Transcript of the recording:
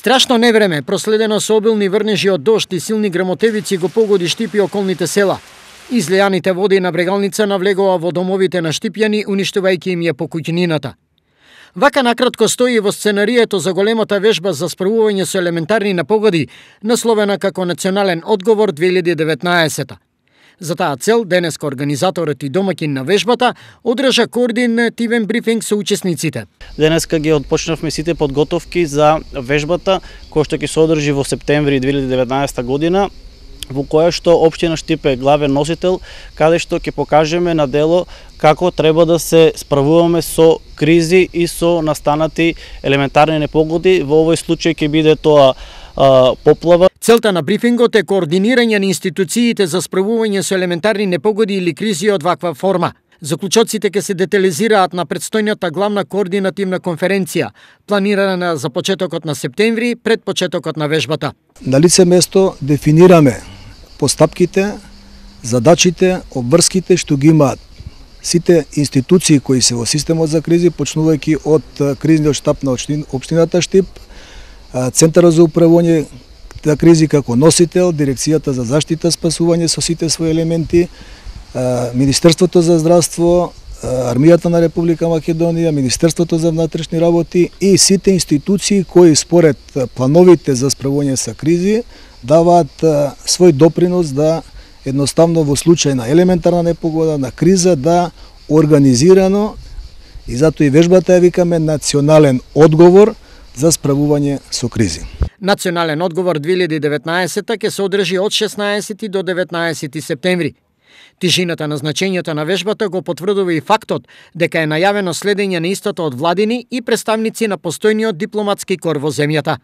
Страшно невреме, проследено со обилни врнежи од дожд и силни грмотевици, го погоди Штип и околните села. Излејаните води на Брегалница навлегува во домовите на штипјани, уништувајќи им ја покуќнината. Вака накратко стои во сценарието за големата вежба за справување со елементарни непогоди, насловена како Национален одговор 2019. За таа цел, денеска организаторот и домаќин на вежбата одржа координативен брифинг со учесниците. Денеска ги отпочнавме сите подготовки за вежбата, која што ќе се одржи во септември 2019 година, во која што општина Штип е главен носител, каде што ќе покажеме на дело како треба да се справуваме со кризи и со настанати елементарни непогоди. Во овој случај ќе биде тоа поплава. Целта на брифингот е координирање на институциите за справување со елементарни непогоди или кризи од ваква форма. Заклучоците ќе се детализираат на предстојната главна координативна конференција, планирана за почетокот на септември, пред почетокот на вежбата. На лице место дефинираме постапките, задачите, обврските што ги имаат сите институции кои се во системот за кризи, почнувајќи од кризниот штаб на општината Штип, Центарот за управување на кризи како носител, Дирекцијата за заштита спасување со сите своји елементи, Министерството за здравство, Армијата на Република Македонија, Министерството за внатрешни работи и сите институции кои според плановите за справување со кризи даваат свој допринос да едноставно во случај на елементарна непогода, на криза, да организирано, и затоа и вежбата ја викаме Национален одговор за справување со кризи. Национален одговор 2019 ќе се одржи од 16 до 19 септември. Тишината на значењето на вежбата го потврдува и фактот дека е најавено следење на истото од владини и представници на постојниот дипломатски кор во земјата.